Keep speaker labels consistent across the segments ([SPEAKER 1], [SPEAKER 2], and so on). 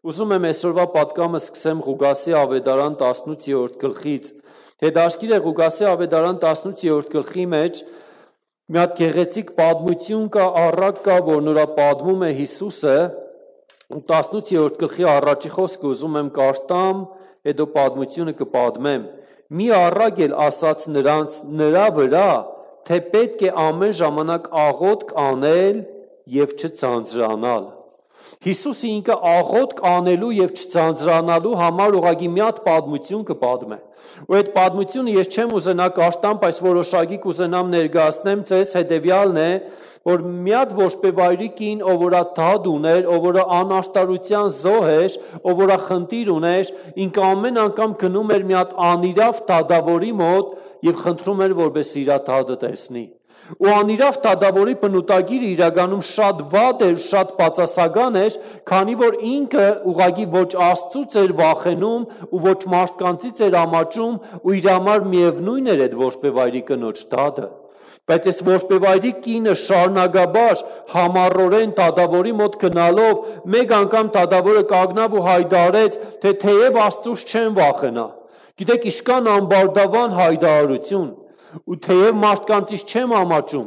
[SPEAKER 1] Ուզում եմ այսօրվա պատկամը սկսեմ Ղուկասի ավետարան 18-րդ գլխից։ Հետաքրքիր է Ղուկասի ավետարան 18-րդ գլխի մեջ մի հատ գեղեցիկ պատմություն կա, առակ կա, որ նրա պատմում է Հիսուսը, 18-րդ գլխի առաջի խոսքը ուզում եմ կարդամ, հետո պատմությունը կպատմեմ։ Մի առակ էլ ասաց նրանց նրա վրա, թե պետք է ամեն ժամանակ աղոթք անել եւ չձանձրանալ։ Հիսուսը ինքը աղոթք անելու եւ չձանձրանալու համար ուղղակի մի հատ պատմություն կպատմե։ Ու այդ պատմությունը ես չեմ ուզենա կարդամ, բայց որոշակի կուզենամ ներկայացնեմ ձեզ հետեւյալն է, որ մի հատ որսպեվայրի կին, ով որ դադ ուներ, ով որ անաշտարության զոհ էր, ով որ խնդիր ուներ, ինքը ամեն անգամ գնում էր մի հատ անիրավ դադավորի մոտ եւ խնդրում էր, որպես իր դադը տեսնի։ Ու անիրավ դադավորի բնութագիրը իրականում շատ վատ էր, շատ բացասական էր, քանի որ ինքը ուղղակի ոչ Աստծուց էր վախենում ու ոչ մարդկանցից էր ամաչում ու իր համար միևնույն էր այդ որսպեվայրի կնոջ դադը։ Բայց այս որսպեվայրի կինը շարունակաբար համառորեն դադավորի մոտ գնալով մեկ անգամ դադավորը կանգնավ ու հայտարարեց, թե թեև Աստծուց չեն վախենա։ Գիտեք, իշքան ամբարտավան հայտարարություն ու թեև մարդկանցից չեմ ամաչում,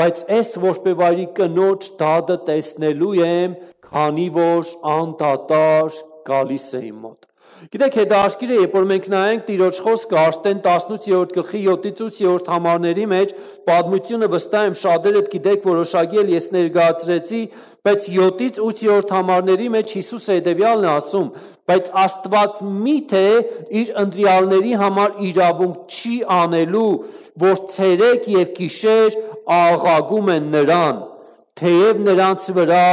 [SPEAKER 1] բայց այս որսպեվայրի կնոջ դադը տեսնելու եմ, քանի որ անդադար գալիս է իմ մոտ։ Գիտեք, հետաքրքիր է, երբ որ մենք նայենք Տիրոջ խոսքը Աշտեն 18-րդ գլխի 7-ից 8-րդ համարների մեջ, պատմությունը վստահ եմ շատերդ գիտեք, որոշակի էլ ես ներկայացրեցի, բայց 7-ից 8-րդ համարների մեջ Հիսուսը հետևյալն է ասում, բայց Աստված միթե իր ընտրյալների համար իրավունք չի անելու, որ ցերեկ եւ գիշեր աղաղում են նրան, թեև նրանց վրա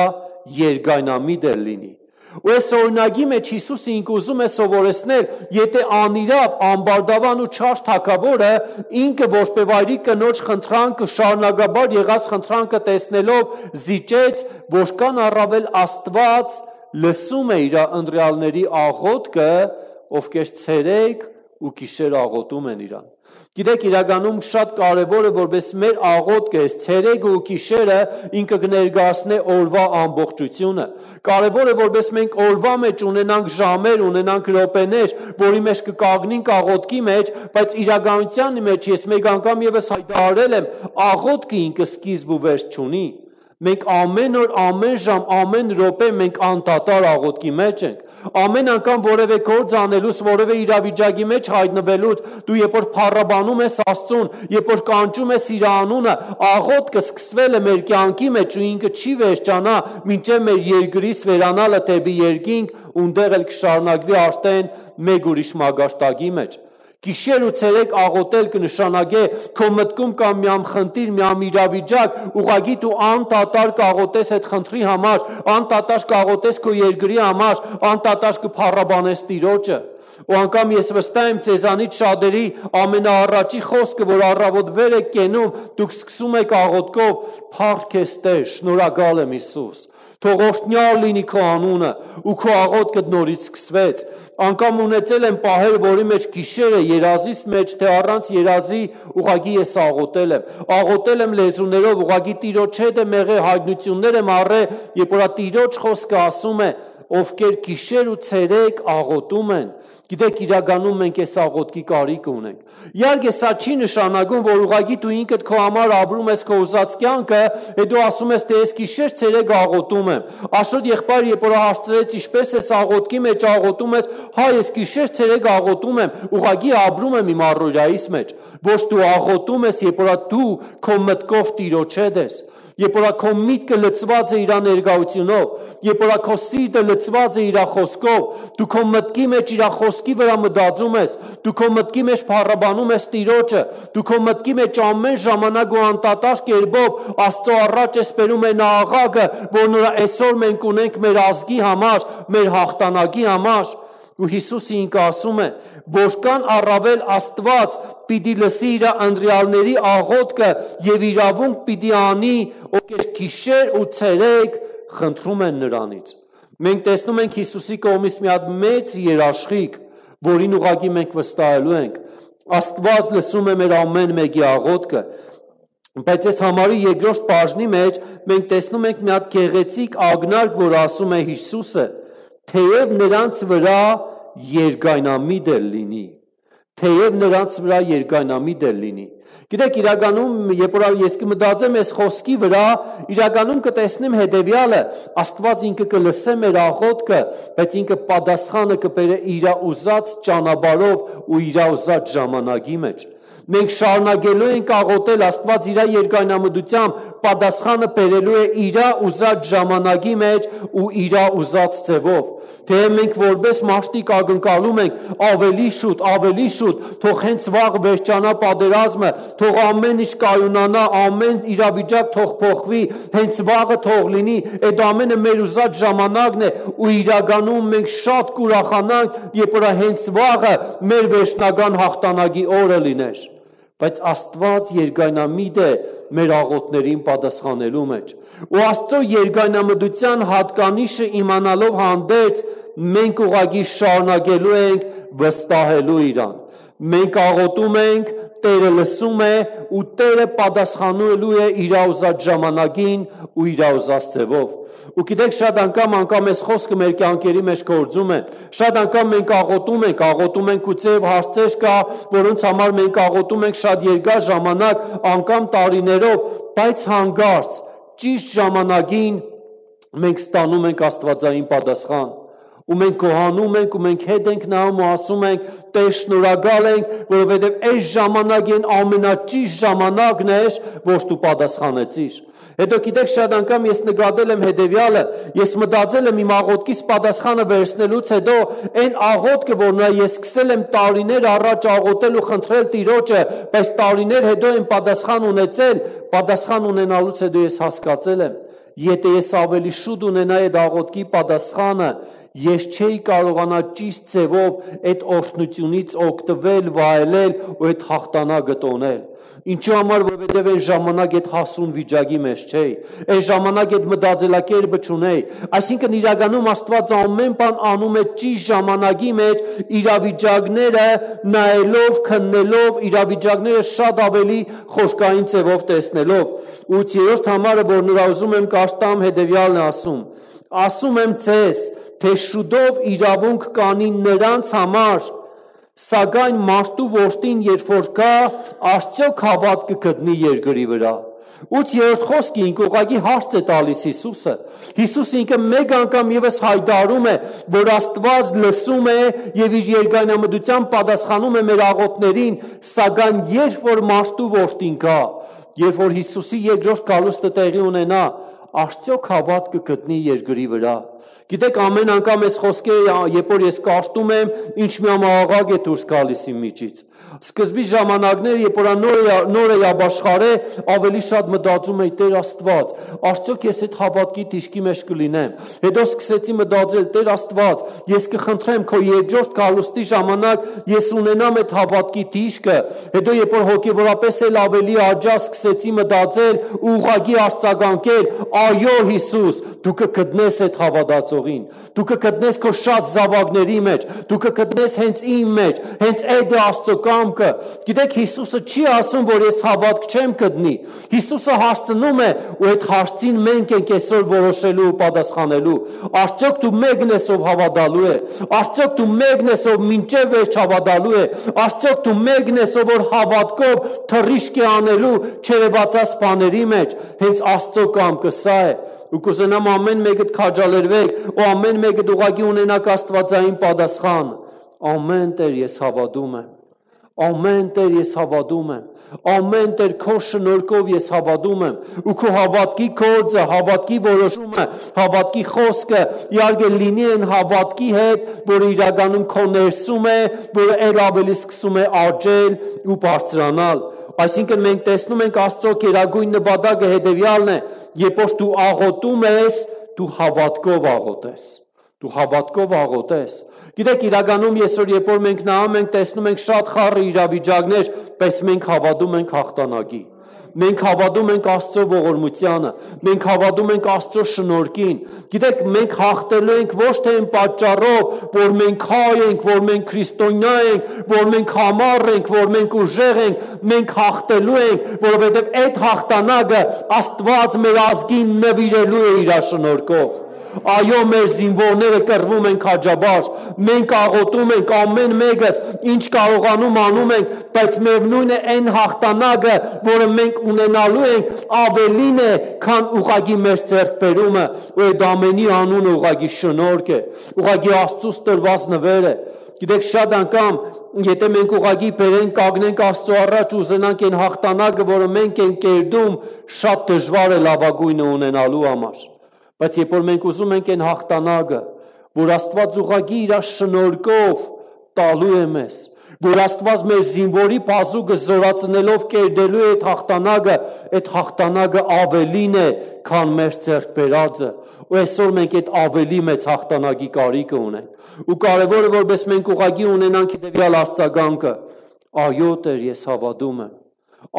[SPEAKER 1] երկայնամիտ լինի։ Ու այս օրինակի մեջ Հիսուսը ինքը ուզում է սովորեցնել, եթե անիրավ, ամբարտավան ու չար թագավորը ինքը որսպեվայրի կնոջ խնդրանքը շարունակաբար եղած խնդրանքը տեսնելով զիջեց, որքան առավել Աստված լսում է իր ընտրյալների աղոթքը, ովքեր ցերեկ ու գիշեր աղոթում են իրան։ Գիտեք, իրականում շատ կարևոր է, որպես մեր աղոթքը այս ցերեկը ու գիշերը ինքը կներկայացնի օրվա ամբողջությունը։ Կարևոր է, որպես մենք օրվա մեջ ունենանք ժամեր, ունենանք րոպեներ, որի մեջ կկանգնենք աղոթքի մեջ, բայց իրականության մեջ ես մեկ անգամ եւս հայտարարել եմ, աղոթքը ինքը սկիզբ ու վերջ չունի։ Մենք ամեն օր, ամեն ժամ, ամեն րոպե մենք անդադար աղոթքի մեջ ենք։ Ամեն անգամ որևէ գործ անելուց, որևէ իրավիճակի մեջ հայտնվելուց, դու երբ որ փառաբանում ես Աստծուն, երբ որ կանչում ես իր անունը, աղոթքը սկսվել է մեր կյանքի մեջ ու ինքը չի վերջանա, մինչև մեր երկրից վերանալը դեպի երկինք, ունդեղ էլ կշարունակվի արդեն մեկ ուրիշ մագարտակի մեջ։ Գիշեր ու ցերեկ աղոթել կնշանակե քո մտքում կա միամ խնդիր, միամ իրավիճակ, ուղղակի դու անդադար կաղոթես այդ խնդրի համար, անդադար կաղոթես քո երկրի համար, անդադար կփառաբանես Տիրոջը։ Ու անգամ ես վստահ եմ ցեզանից շատերի ամենաառաջի խոսքը, որ առավոտ վեր եք կենում, դուք սկսում եք աղոթքով, փառք ես Տեր, շնորհակալ եմ Հիսուս։ Թող օրհնյալ լինի քո անունը ու քո աղոթքը նորից սկսվեց։ Անգամ ունեցել եմ պահեր, որի մեջ գիշերը երազից մեջ, թե առանց երազի ուղղակի ես աղոթել եմ լեզուներով, ուղղակի Տիրոջ հետ եմ եղել, հայտնություններ եմ առել, երբ որ Տիրոջ խոսքը ասում է, ովքեր գիշեր ու ցերեկ աղոթում են։ Գիտեք, իրականում մենք այս աղոթքի կարիք ունենք։ Իհարկե, սա չի նշանակում, որ ուղղակի դու ինքդ քո համար ապրում ես քո ուզած կյանքը, հետո ասում ես, թե ես գիշեր ցերեկ աղոթում եմ։ Աշոտ եղբայր, երբ որ հարցրեց, ինչպես ես աղոթքի մեջ աղոթում ես, հա, ես գիշեր ցերեկ աղոթում եմ, ուղղակի ապրում եմ իմ առօրյայիս մեջ։ Ոչ դու աղոթում ես, երբ որ դու քո մտքով Տիրոջ հետ ես։ Երբ որ քո միտքը լցված է իր ներկայությունով, երբ որ քո սիրտը լցված է իր խոսքով, դու քո մտքի մեջ իր խոսքի վրա մտածում ես, դու քո մտքի մեջ փառաբանում ես Տիրոջը, դու քո մտքի մեջ ամեն ժամանակ ու անդադար կերպով Աստծո առաջ ես բերում այն աղաղակը, որ նրա այսօր մենք ունենք մեր ազգի համար, մեր հաղթանակի համար։ Ու Հիսուսը ինքը ասում է, որքան առավել Աստված պիտի լսի իր ընտրյալների աղոթքը եւ իրավունք պիտի անի, ովքեր գիշեր ու ցերեկ խնդրում են նրանից։ Մենք տեսնում ենք Հիսուսի կողմից մի հատ մեծ երաշխիք, որին ուղղակի մենք վստահելու ենք։ Աստված լսում է մեր ամեն մեկի աղոթքը։ Բայց այս համարի երկրորդ բաժնի մեջ մենք տեսնում ենք մի հատ գեղեցիկ ակնարկ, որ ասում է Հիսուսը, թեև նրանց վրա երկայնամիտ էլ լինի, թեև նրանց վրա երկայնամիտ էլ լինի։ Գիտեք, իրականում, երբ որ ես կմտածեմ այս խոսքի վրա, իրականում կտեսնեմ հետևյալը, Աստված ինքը կլսե մեր աղոթքը, բայց ինքը պատասխանը կբերե իր ուզած ճանապարհով ու իր ուզած ժամանակի մեջ։ Մենք շարունակելու ենք աղոթել, Աստված իր երկայնամտությամբ պատասխանը բերելու է իր ուզած ժամանակի մեջ ու իր ուզած ձևով։ Թե մենք որպես մաշտիկ ակնկալում ենք ավելի շուտ, թող հենց վաղ վերջանա պատերազմը, թող ամեն ինչ կայունանա, ամեն իրավիճակ թող փոխվի, հենց վաղը թող լինի, այդ ամենը մեր ուզած ժամանակն է ու իրականում մենք շատ կուրախանանք, երբ որ հենց վաղը մեր վերջնական հաղթանակի օրը լիներ։ Բայց Աստված երկայնամիտ է մեր աղոթներին պատասխանելու մեջ։ Ու Աստծո երկայնամտության հատկանիշը իմանալով հանդերձ մենք ուղղակի շարունակելու ենք վստահելու իրան։ Մենք աղոթում ենք, Տերը լսում է ու Տերը պատասխանելու է իր ուզած ժամանակին ու իր ուզած ձևով։ Ու գիտեք, շատ անգամ այս խոսքը մեր կյանքերի մեջ գործում է։ Շատ անգամ մենք աղոթում ենք ու ձև հարցեր կա, որոնց համար մենք աղոթում ենք շատ երկար ժամանակ, անգամ տարիներով, բայց հանկարծ ճիշտ ժամանակին մենք ստանում ենք աստվածային պատասխան։ Ու մենք գոհանում ենք ու մենք հետ ենք նայում ու ասում ենք, Տեր, շնորհակալ ենք, որովհետև այս ժամանակին ամենաճիշտ ժամանակն էր, որ դու պատասխանեցիր։ Հետո գիտեք, շատ անգամ ես նկատել եմ հետևյալը, ես մտածել եմ իմ աղոթքից պատասխանը վերցնելուց հետո այն աղոթքը, որ ես սկսել եմ տարիներ առաջ աղոթել ու խնդրել Տիրոջը, բայց տարիներ հետո եմ պատասխան ունեցել, պատասխան ունենալուց հետո ես հասկացել եմ, եթե ես ավելի շուտ ունենայի այդ աղոթքի պատասխանը, ես չէի կարողանա ճիշտ ձևով այդ օրհնությունից օգտվել, վայելել ու այդ հաղթանակը տոնել։ Ինչու համար, որովհետև այն ժամանակ այդ հասուն վիճակի մեջ չէի, այն ժամանակ այդ մտածելակերպը չունեի։ Այսինքն իրականում Աստված ամեն բան անում է ճիշտ ժամանակի մեջ, իրավիճակները նայելով, քննելով, իրավիճակները շատ ավելի խոշորային ձևով տեսնելով։ Ու երրորդ համարը, որ նրա ուզում եմ կաշտամ, հետևյալն է ասում եմ ձեզ, թե շուտով իրավունք կանի նրանց համար, սակայն մարդու որդին երբ որ գա, արդյոք հավատ կգտնի երկրի վրա։ Ութ երրորդ խոսքը ինքը ուղղակի հարց է տալիս Հիսուսը։ Հիսուսը ինքը մեկ անգամ ևս հայտարարում է, որ Աստված լսում է եւ իր երկայնամտությամբ պատասխանում է մեր աղոթներին, սակայն երբ որ մարդու որդին գա, երբ որ Հիսուսի երկրորդ գալուստը տեղի ունենա, արդյոք հավատ կգտնի երկրի վրա։ Գիտեք, ամեն անգամ այս խոսքերը, երբ որ ես կարդում եմ, ինչ մի աղաղակ է դուրս գալիս իմ միջից։ Սկզբի ժամանակներ, երբ որ նոր է ապաշխարե, ավելի շատ մտածում էի Տեր Աստված, արդյոք ես այդ հավատքի դիրքի մեջ կլինեմ։ Հետո սկսեցի մտածել, Տեր Աստված, ես կխնդրեմ քո երկրորդ գալուստի ժամանակ ես ունենամ այդ հավատքի դիրքը։ Հետո երբ որ հոգևորապես էլ ավելի աճա, սկսեցի մտածել ու ուղղակի արձագանքել, այո Հիսուս, դու կգտնես այդ հավատացողին, դու կգտնես քո շատ զավակների մեջ, դու կգտնես հենց իմ մեջ, հենց այդ է Աստծո կամքը։ Գիտեք, Հիսուսը չի ասում, որ ես հավատք չեմ գտնի։ Հիսուսը հարցնում է ու այդ հարցին մենք ենք այսօր որոշելու ու պատասխանելու։ Արդյոք դու մեկն ես ով հավատալու է։ Արդյոք դու մեկն ես ով մինչև վերջ հավատալու է։ Արդյոք դու մեկն ես ով որ հավատքով թռիչք է անելու չերևացած բաների մեջ։ Հենց Աստծո կամքը սա է։ Ու կուզենամ ամեն մեկդ քաջալերվեք ու ամեն մեկդ ուղղակի ունենաք աստվածային պատասխան։ Ամեն Տեր ես հավատում եմ։ Ամեն Տեր ես հավատում եմ։ Ամեն Տեր քո շնորհքով ես հավատում եմ։ Ու քո հավատքի գործը, հավատքի որոշումը, հավատքի խոսքը իհարկե լինի այն հավատքի հետ, որը իրականում քո ներսում է, որը ել ավելի սկսում է աճել ու բարձրանալ։ Այսինքն մենք տեսնում ենք Աստծո գերագույն նպատակը հետևյալն է, երբ որ դու աղոթում ես, դու հավատքով աղոթես։ Դու հավատքով աղոթես։ Գիտեք, իրականում այսօր երբ որ մենք նայում ենք, տեսնում ենք շատ խառը իրավիճակներ, բայց մենք հավատում ենք հաղթանակի։ Մենք հավատում ենք Աստծո ողորմությանը, մենք հավատում ենք Աստծո շնորհքին։ Գիտեք, մենք հաղթելու ենք ոչ թե այն պատճառով, որ մենք հայ ենք, որ մենք քրիստոնյա ենք, որ մենք համառ ենք, որ մենք ուժեղ ենք, մենք հաղթելու ենք, որովհետև այդ հաղթանակը Աստված մեր ազգին նվիրելու է իր շնորհքով։ Այո, մեր զինվորները կռվում են քաջաբար, մենք աղոթում ենք ամեն մեկս, ինչ կարողանում անում ենք, բայց միևնույն է այն հաղթանակը, որը մենք ունենալու ենք, ավելին է, քան ուղղակի մեր ձեռքբերումը, ու այդ ամենի անունը ուղղակի շնորհք է, ուղղակի Աստծուց տրված նվեր է։ Գիտեք, շատ անգամ, եթե մենք ուղղակի բերենք, կանգնենք Աստծո առաջ ու ուզենանք այն հաղթանակը, որը մենք ենք կերտում, շատ դժվար է լավագույնը ունենալու համար։ Բայց երբ որ մենք ուզում ենք այն հաղթանակը, որ Աստված ուղղակի իր շնորհքով տալու է մեզ, որ Աստված մեր զինվորի բազուկը զորացնելով կերտելու է այդ հաղթանակը ավելին է, քան մեր ձեռք բերածը, ու այսօր մենք այդ ավելի մեծ հաղթանակի կարիքը ունենք։ Ու կարևորը որպես մենք ուղղակի ունենանք հետևյալ արձագանքը. այո Տեր, ես հավատում եմ,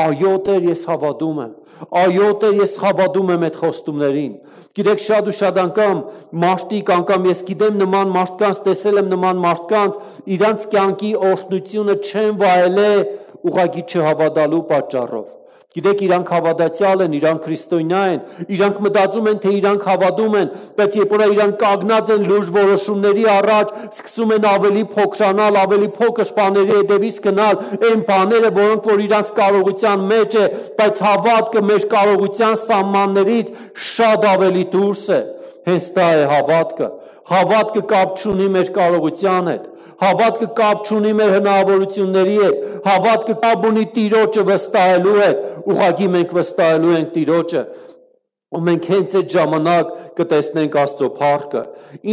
[SPEAKER 1] այո Տեր, ես հավատում եմ, այո Տեր, ես հավատում եմ այդ խոստումներին։ Գիտեք, շատ ու շատ անգամ մարդիկ, անգամ ես գիտեմ նման մարդկանց, տեսել եմ նման մարդկանց, իրանց կյանքի օրհնությունը չեն վայելել ուղղակի չհավատալու պատճառով։ Գիտեք, իրանք հավատացյալ են, իրանք քրիստոնյա են, իրանք մտածում են, թե իրանք հավատում են, բայց երբ որ իրանք կանգնած են լուրջ որոշումների առաջ, սկսում են ավելի փոքրանալ, ավելի փոքր բաների հետևից գնալ, այն բաները, որոնք որ իրանք կարողության մեջ է, բայց հավատքը մեր կարողության սահմաններից շատ ավելի դուրս է։ Հենց դա է հավատքը։ Հավատքը կապ չունի մեր կարողության հետ։ Հավատքը կապ չունի մեր հնարավորությունների հետ, հավատքը կապ ունի Տիրոջը վստահելու հետ, ուղղակի մենք վստահելու ենք Տիրոջը, ու մենք հենց այդ ժամանակ կտեսնենք Աստծո փառքը։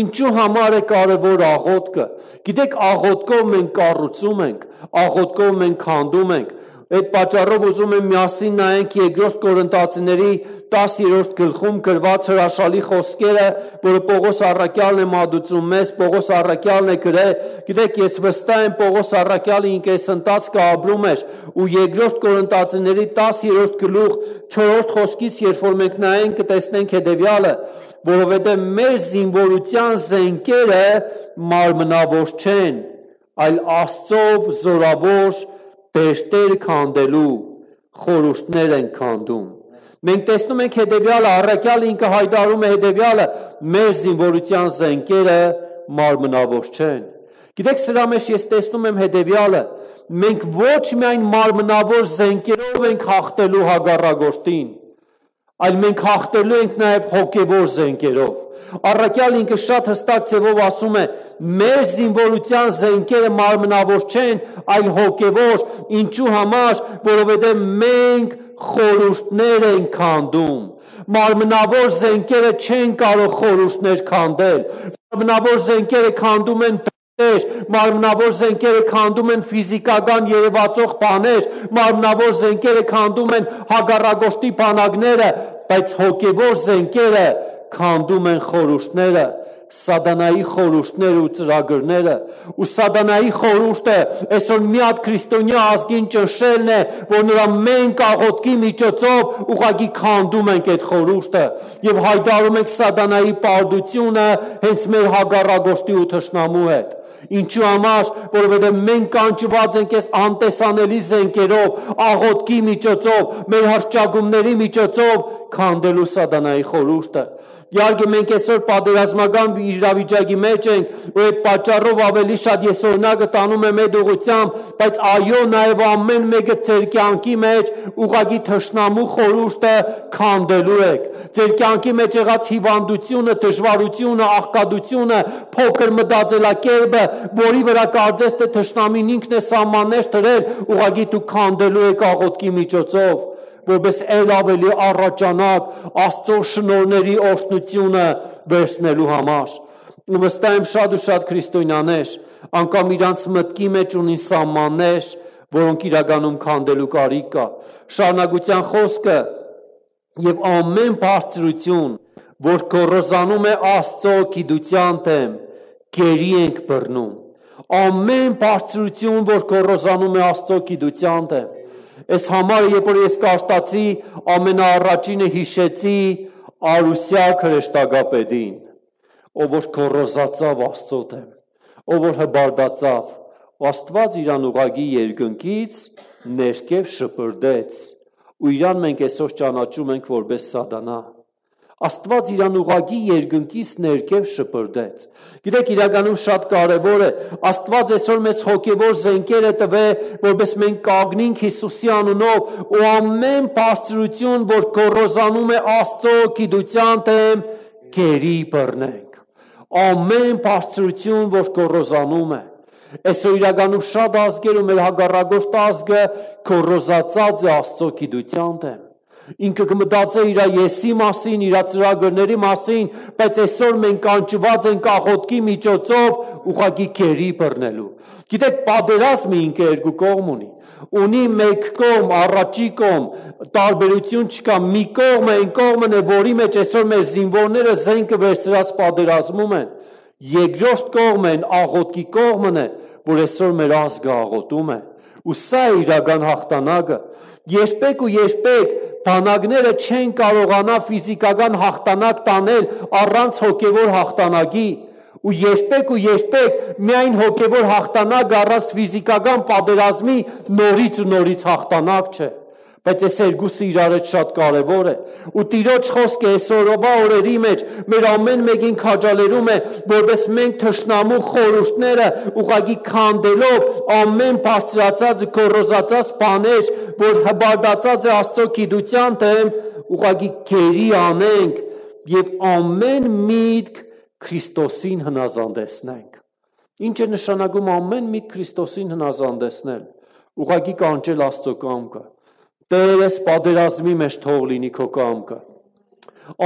[SPEAKER 1] Ինչու համար է կարևոր աղոթքը։ Գիտեք, աղոթքով մենք կառուցում ենք, աղոթքով մենք քանդում ենք։ Այդ պատճառով ուզում եմ միասին նայենք 2 Կորինթացիների 10-րդ գլխում գրված հրաշալի խոսքերը, որը Պողոս առաքյալն է մատուցում մեզ, Պողոս առաքյալն է գրել։ Գիտեք, ես վստահ եմ Պողոս առաքյալը ինքեսընտածքը ապրում էր, ու 2 Կորինթացիների 10-րդ գլուխ 4-րդ խոսքից երբ որ մենք նայենք կտեսնենք հետևյալը, որովհետև մեր զինվորության զենքերը մարմնավոր չեն, այլ Աստծով զորավոր դեշտեր քանդելու խորհուրդներ են քանդում։ Մենք տեսնում ենք հետևյալը, առաքյալը ինքը հայտարարում է հետևյալը, մեր զինվորության զենքերը մարմնավոր չեն։ Գիտեք, սրա մեջ ես տեսնում եմ հետևյալը, մենք ոչ միայն մարմնավոր զենքերով ենք հաղթելու հակառակորդին, այլ մենք հաղթելու ենք նաև հոգևոր զենքերով։ Առաքյալը ինքը շատ հստակ ձևով ասում է, մեր զինվորության զենքերը մարմնավոր չեն, այլ հոգևոր, ինչու համար, որովհետև մենք խորհուրդներ ենք քանդում։ Մարմնավոր զենքերը չեն կարող խորհուրդներ քանդել։ Մարմնավոր զենքերը քանդում են մարմնավոր զենքերը քանդում են ֆիզիկական երևացող բաներ, մարմնավոր զենքերը քանդում են հակառակորդի բանակները, բայց հոգևոր զենքերը քանդում են խորհուրդները, սատանայի խորհուրդները ու ծրագրերը, ու սատանայի խորհուրդը այսօր մի հատ քրիստոնյա ազգին ճնշելն է, որ նրա մենք աղոթքի միջոցով ուղղակի քանդում ենք այդ խորհուրդը եւ հայտարարում ենք սատանայի պարտությունը հենց մեր հակառակորդի ու թշնամու հետ։ Ինչու համար, որովհետև մենք կանչված ենք այս անտեսանելի զենքերով, աղոթքի միջոցով, մեր հռչակումների միջոցով քանդելու սատանայի խորհուրդը։ Իհարկե մենք այսօր պատերազմական իրավիճակի մեջ ենք, ու այդ պատճառով ավելի շատ ես օրինակը տանում եմ այդ ուղղությամբ, բայց այո, նաև ամեն մեկը ձեր կյանքի մեջ ուղղակի թշնամու խորհուրդը քանդելու եք։ Ձեր կյանքի մեջ եղած հիվանդությունը, դժվարությունը, աղքատությունը, փոքր մտածելակերպը, որի վրա կարծես թե թշնամին ինքն է սահմաններ դրել, ուղղակի դու քանդելու եք աղոթքի միջոցով, որպես ել ավելի առաջանակ Աստծո շնորհների օրհնությունը վերցնելու համար։ Ու վստահ եմ շատ ու շատ քրիստոնյաներ անգամ իրանց մտքի մեջ ունին սահմաններ, որոնք իրականում քանդելու կարիք կա։ Շարունակության խոսքը եւ ամեն բարձրություն, որ գոռոզանում է Աստծո գիտության դեմ, գերի ենք բռնում։ Ամեն բարձրություն, որ գոռոզանում է Աստծո գիտության դեմ։ Այս համարը, երբ որ ես կարտացի, ամենաառաջինը հիշեցի Արուսյակ հրեշտակապետին, ով որ գոռոզացավ Աստծո դեմ, ով որ հբարդացավ, Աստված իրան ուղղակի երկնքից ներքև շպրտեց, ու իրան մենք այսօր ճանաչում ենք որպես սատանա։ Աստված իրան ուղղակի երկնքից ներքև շպրդեց։ Գիտեք, իրականում շատ կարևոր է, Աստված այսօր մեզ հոգևոր զենքեր է տվել, որպես մենք կանգնենք Հիսուսի անունով ու ամեն բարձրություն, որ գոռոզանում է Աստծո գիտության դեմ, գերի բռնենք։ Ամեն բարձրություն, որ գոռոզանում է։ Այսօր իրականում շատ ազգեր ու մեր հակառակորդ ազգը գոռոզացած է Աստծո գիտության դեմ։ Ինքը կմտածե իր եսի մասին, իր ծրագրերի մասին, բայց այսօր մենք կանչված ենք աղոթքի միջոցով ուղղակի գերի բռնելու։ Գիտեք, պատերազմը ինքը երկու կողմ ունի մեկ կողմ, առաջի կողմ, տարբերություն չկա, մի կողմը այն կողմն է, որի մեջ այսօր մեր զինվորները զենքը վերցրած պատերազմում են։ Երկրորդ կողմն են աղոթքի կողմն է, որ այսօր մեր ազգը աղոթում է։ Ու սա է իրական հաղթանակը։ Երբեք ու երբեք բանակները չեն կարողանա ֆիզիկական հաղթանակ տանել առանց հոգևոր հաղթանակի։ Ու երբեք միայն հոգևոր հաղթանակ առանց ֆիզիկական պատերազմի նորից հաղթանակ չէ։ Բայց այս երկուսը իրար հետ շատ կարևոր է։ Ու Տիրոջ խոսքը այսօրվա օրերի մեջ մեր ամեն մեկին քաջալերում է, որպես մենք թշնամու խորհուրդները ուղղակի քանդելով ամեն բարձրացած գոռոզացած բաներ, որ հբարդացած է Աստծո գիտության դեմ, ուղղակի գերի անենք եւ ամեն միտք Քրիստոսին հնազանդեցնենք։ Ինչ է նշանակում ամեն միտք Քրիստոսին հնազանդեցնել։ Ուղղակի կանչել Աստծո կամքը։ Տեր, ես պատերազմի մեջ թող լինի քո կամքը։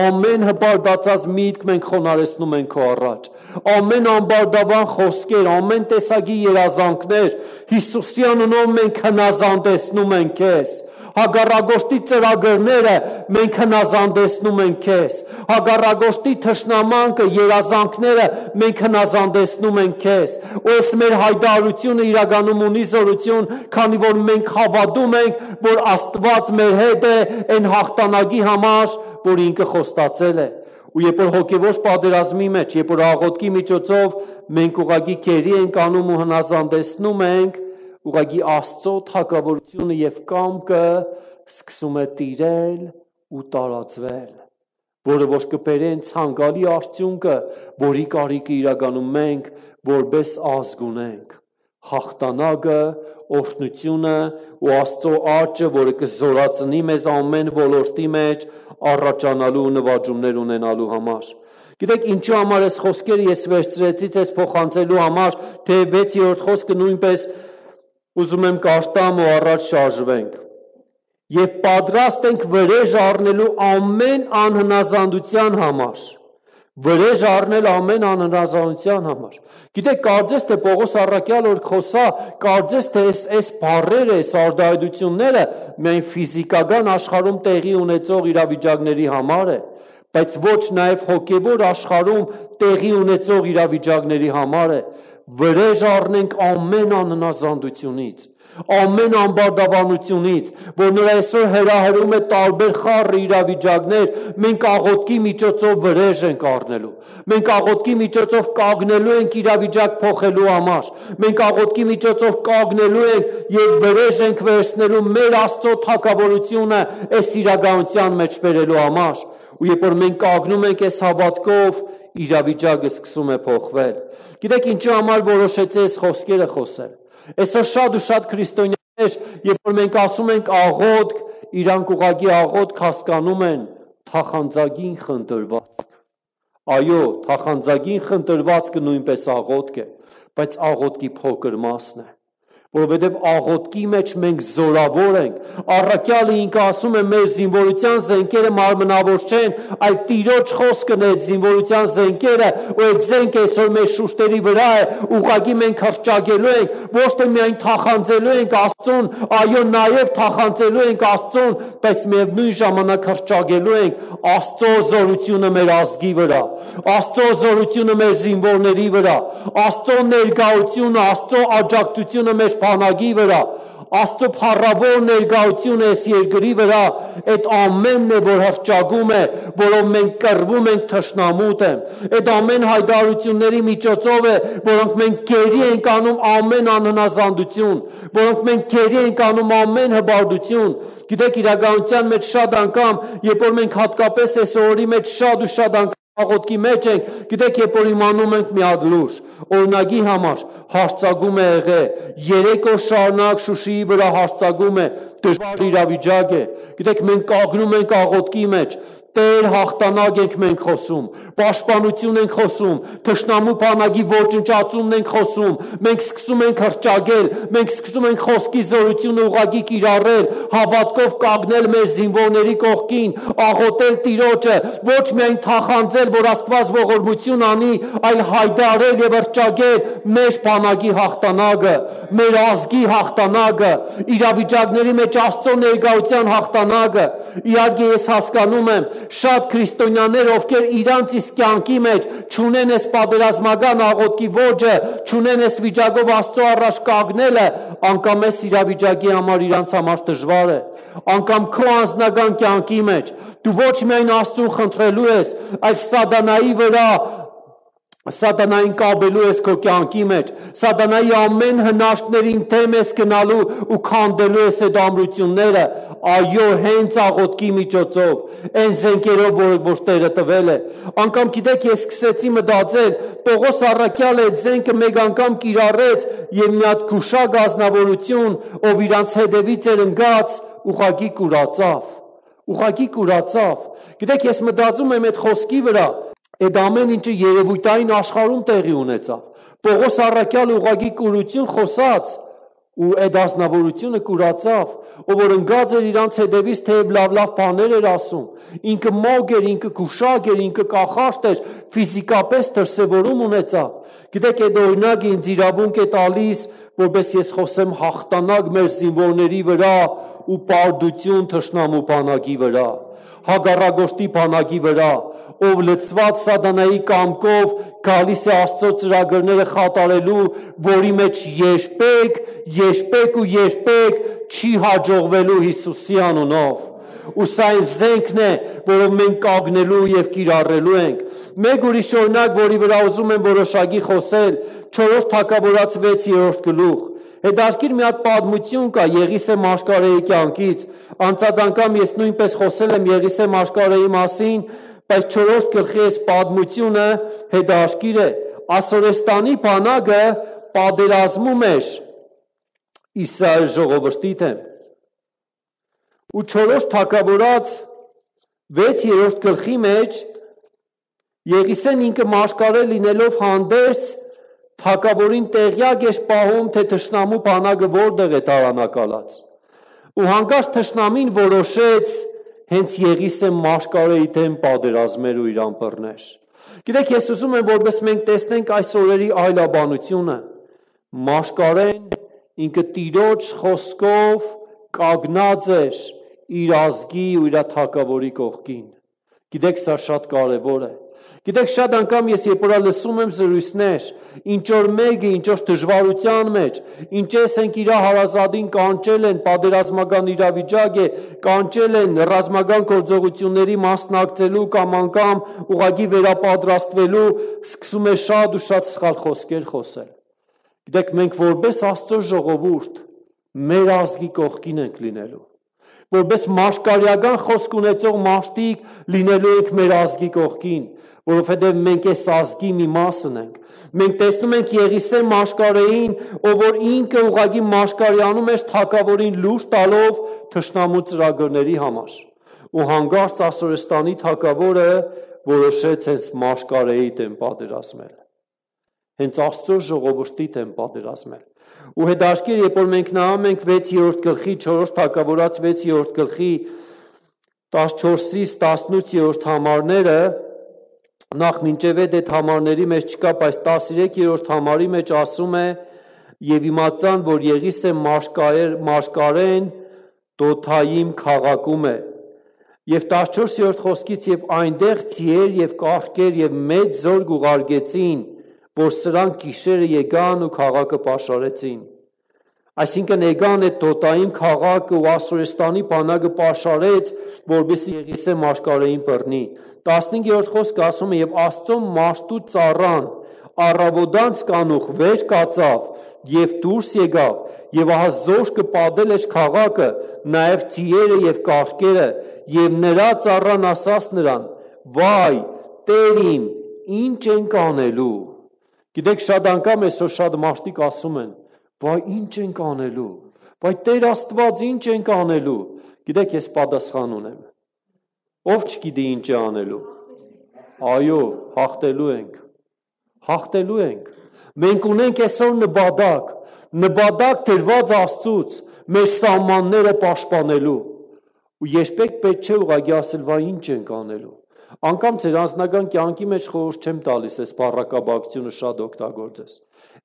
[SPEAKER 1] Ամեն հպարտացած միտք մենք խոնարհեցնում ենք քո առաջ։ Ամեն ամբարտավան խոսքեր, ամեն տեսակի երազանքներ Հիսուսի անունով մենք հնազանդեցնում ենք քեզ։ Հակառակորդի ծրագրերը մենք հնազանդեցնում ենք քեզ։ Հակառակորդի թշնամանքը, երազանքները մենք հնազանդեցնում ենք քեզ։ Ու այս մեր հայտարարությունը իրականում ունի զորություն, քանի որ մենք հավատում ենք, որ Աստված մեր հետ է այն հաղթանակի համար, որ ինքը խոստացել է։ Ու երբ որ հոգևոր պատերազմի մեջ, երբ որ աղոթքի միջոցով մենք ուղղակի քերի ենք անում ու հնազանդեցնում ենք, ուղղակի Աստծո թագավորությունը եւ կամքը սկսում է տիրել ու տարածվել, որը ոչ կբերեն ցանկալի արդյունքը, որի կարիքը իրականում մենք որպես ազգ ունենք։ Հաղթանակը, օրհնությունը ու Աստծո աճը, որը կզորացնի մեզ ամեն ոլորտի մեջ առաջանալու ու նվաճումներ ունենալու համար։ Գիտեք, ինչու համար այս խոսքերը ես վերցրեցի ձեզ փոխանցելու համար, թե 6-րդ խոսքը նույնպես ուզում եմ կարդամ ու առաջ շարժվենք։ Եվ պատրաստ ենք վրեժ առնելու ամեն անհնազանդության համար։ Վրեժ առնել ամեն անհնազանդության համար։ Գիտեք, կարծես թե Պողոս առաքյալ որ խոսա, կարծես թե այս բառերը, այս արտահայտությունները միայն ֆիզիկական աշխարհում տեղի ունեցող իրավիճակների համար է, բայց ոչ նաև հոգևոր աշխարհում տեղի ունեցող իրավիճակների համար է։ Վրեժ առնենք ամեն անհնազանդությունից, ամեն ամբարտավանությունից, որ նրա այսօր հրահրում է տարբեր խառը իրավիճակներ, մենք աղոթքի միջոցով վրեժ ենք առնելու։ Մենք աղոթքի միջոցով կանգնելու ենք իրավիճակ փոխելու համար։ Մենք աղոթքի միջոցով կանգնելու ենք եւ վրեժ ենք վերցնելու մեր Աստծո թագավորությունը այս իրականության մեջ բերելու համար։ Ու երբ որ մենք կանգնում ենք այս հավատքով, իրավիճակը սկսում է փոխվել։ Գիտեք, ինչու համար որոշեցի այս խոսքերը խոսել։ Այսօր շատ ու շատ քրիստոնյաներ, երբ որ մենք ասում ենք աղոթք, իրանք ուղղակի աղոթք հասկանում են թախանձագին խնդրվածք։ Այո, թախանձագին խնդրվածքը նույնպես աղոթք է, բայց աղոթքի փոքր մասն է։ Որովհետև աղոթքի մեջ մենք զորավոր ենք։ Առաքյալը ինքը ասում է մեր զինվորության զենքերը մարմնավոր չեն, այլ Տիրոջ խոսքն է այդ զինվորության զենքերը, ու այդ զենքը այսօր մեր շուրթերի վրա է, ուղղակի մենք հռչակելու ենք, ոչ թե միայն թախանձելու ենք Աստծուն, այո, նաև թախանձելու ենք Աստծուն, բայց միևնույն ժամանակ հռչակելու ենք Աստծո զորությունը մեր ազգի վրա, Աստծո զորությունը մեր զինվորների վրա, Աստծո ներկայությունը, Աստծո աջակցությունը մեր բանակի վրա, Աստծո փառավոր ներկայությունը այս երկրի վրա, այդ ամենն է, որ հրճագում է, որով մենք կռվում ենք թշնամու դեմ։ Այդ ամեն հայտարարությունների միջոցով է, որոնք մենք գերի ենք անում ամեն անհնազանդություն, որոնք մենք գերի ենք անում ամեն հբարդություն։ Գիտեք, իրականության մեջ շատ անգամ, երբ որ մենք հատկապես այս օրերի մեջ շատ ու շատ անգամ աղոթքի մեջ ենք, գիտեք, երբ որ իմանում ենք մի հատ լուր, օրինակի համար հարձակում է եղել, 3 օր շարունակ Շուշիի վրա հարձակում է, դժվար իրավիճակ է։ Գիտեք, մենք կանգնում ենք աղոթքի մեջ, Տեր հաղթանակ ենք մենք խոսում, պաշտպանություն ենք խոսում, թշնամու բանակի ոչնչացումն ենք խոսում, մենք սկսում ենք հրճագել, մենք սկսում ենք խոսքի զորությունը ուղղակի կիրառել, հավատքով կանգնել մեր զինվորների կողքին, աղոթել Տիրոջը, ոչ միայն թախանձել, որ Աստված ողորմություն անի, այլ հայտարարել եւ հրճագել մեր բանակի հաղթանակը, մեր ազգի հաղթանակը, իրավիճակների մեջ Աստծո ներկայության հաղթանակը։ Իհարկե ես հասկանում եմ, շատ քրիստոնյաներ, ովքեր իրանց իսկ կյանքի մեջ չունեն այս պատերազմական աղոթքի ոճը, չունեն այս վիճակով Աստծո առաջ կանգնելը, անգամ այս իրավիճակի համար իրանց համար դժվար է, անգամ քո անձնական կյանքի մեջ դու ոչ միայն Աստծուն խնդրելու ես, այլ սատանայի վրա Սատանային կապելու ես քո կյանքի մեջ, սատանայի ամեն հնարքներին դեմ ես գնալու ու քանդելու ես այդ ամրությունները, այո, հենց աղոթքի միջոցով, այն զենքերով, որ Տերը տվել է։ Անգամ գիտեք, ես սկսեցի մտածել, Պողոս առաքյալը այդ զենքը մեկ անգամ կիրառեց եւ մի հատ գուշակ ազնվորություն, ով իրանց հետևից էր ընկած, ուղղակի կուրացավ։ Գիտեք, ես մտածում եմ այդ խոսքի վրա, այդ ամեն ինչը երևույթային աշխարհում տեղի ունեցավ։ Պողոս առաքյալը ուղղակի կուրություն խոսած ու այդ ազնվորությունը կուրացավ, ով որ ընկած էր իրանց հետևից, թեև լավ բաներ էր ասում, ինքը մոգ էր, ինքը գուշակ էր, ինքը կախարդ էր, ֆիզիկապես դրսևորում ունեցավ։ Գիտեք, այդ օրինակը ինձ իրավունք է տալիս, որպես ես խոսեմ հաղթանակ մեր զինվորների վրա ու պարտություն թշնամու բանակի վրա, հակառակորդի բանակի վրա, ով լցված սատանայի կամքով գալիս է Աստծո ծրագրերը խատարելու, որի մեջ երբեք չի հաջողվելու Հիսուսի անունով։ Ու սա այն զենքն է, որով մենք կանգնելու եւ կիրառելու ենք։ Մեկ ուրիշ օրինակ, որի վրա ուզում եմ որոշակի խոսել, 4 Թագավորաց 6-րդ գլուխ։ Հետաքրքիր մի հատ պատմություն կա Եղիսե մաշկարեի կյանքից։ Անցած անգամ ես նույնպես խոսել եմ Եղիսե մաշկարեի մասին, բայց 4-րդ գլխի այս պատմությունը հետաքրքիր է։ Ասորեստանի բանակը պատերազմում էր Իսրայել ժողովրդի դեմ։ Ու 4 Թագավորաց 6-րդ գլխի մեջ Եղիսեն ինքը մաշկարե լինելով հանդերձ թագավորին տեղյակ էր պահում, թե թշնամու բանակը որտեղ է տարանակալած։ Ու հանկարծ թշնամին որոշեց հենց Եղիսեն մաշկարեի դեմ պատերազմեր ու իրան բռներ։ Գիտեք, ես ուզում եմ, որպես մենք տեսնենք այս օրերի այլաբանությունը, մաշկարեն ինքը Տիրոջ խոսքով կանգնած էր իր ազգի ու իր թագավորի կողքին։ Գիտեք, սա շատ կարևոր է։ Գիտեք, շատ անգամ ես երբ որ լսում եմ զրույցներ, ինչ որ մեկը, ինչ որ դժվարության մեջ, ինչպես ենք իր հարազատին կանչել են, պատերազմական իրավիճակ է, կանչել են ռազմական գործողությունների մասնակցելու կամ անգամ ուղղակի վերապատրաստվելու, սկսում է շատ ու շատ սխալ խոսքեր խոսել։ Գիտեք, մենք որպես Աստծո ժողովուրդ մեր ազգի կողքին ենք լինելու։ Որպես մաշկարյական խոսք ունեցող մարդիկ լինելու ենք մեր ազգի կողքին, որովհետև մենք այս ազգի մի մասն ենք։ Մենք տեսնում ենք Եղիսե մաշկարեին, ով որ ինքը ուղղակի մաշկարյանում էր թագավորին լուր տալով թշնամու ծրագրերի համար։ Ու հանկարծ Ասորեստանի թագավորը որոշեց հենց մաշկարեի դեմ պատերազմել։ Հենց Աստծո ժողովրդի դեմ պատերազմել։ Ու հետաքրքիր, երբ որ մենք նայում ենք 6-րդ գլխի 4 Թագավորաց 6-րդ գլխի 14-ից 18-րդ համարները, նախ մինչև այդ համարների մեջ չկա, բայց 13-րդ համարի մեջ ասում է. «Եվ իմացան, որ Եղիսե մաշկարեն Դոթայիմ քաղաքում է, եւ 14-րդ խոսքից եւ այնտեղ ցիեր եւ կառքեր եւ մեծ զորք ուղարկեցին, որ սրանք գիշերը եկան ու քաղաքը պաշարեցին։ Այսինքն եկան այդ Դոտային քաղաքը ու Ասորեստանի բանակը պաշարեց, որպեսզի Եղիսե մաշկարեին բռնի։ 15-րդ խոսքը ասում է, եւ Աստծո մաշտու ծառան առավոտանց կանուխ վեր կացավ եւ դուրս եկավ, եւ ահա զորքը պատել էր քաղաքը, նաեւ ծիերը եւ կառքերը, եւ նրա ծառան ասաց նրան. «Վայ, Տեր իմ, ինչ ենք անելու»։ Գիտեք, շատ անգամ այսօր շատ մարդիկ ասում են. «Վայ, ինչ ենք անելու»։ «Վայ, Տեր Աստված, ինչ ենք անելու»։ Գիտեք, ես պատասխան ունեմ։ Ով չգիտի ինչ է անելու։ Այո, հաղթելու ենք։ Հաղթելու ենք։ Մենք ունենք այսօր նպատակ դրված Աստծուց մեր սահմանները պաշտպանելու։ Ու երբեք պետք չէ ուղղակի ասել, «Վայ, ինչ ենք անելու»։ Անկամ ձեր անձնական կյանքի մեջ խորհուրդ չեմ տալիս այս բառակաբակությունը շատ օգտագործես։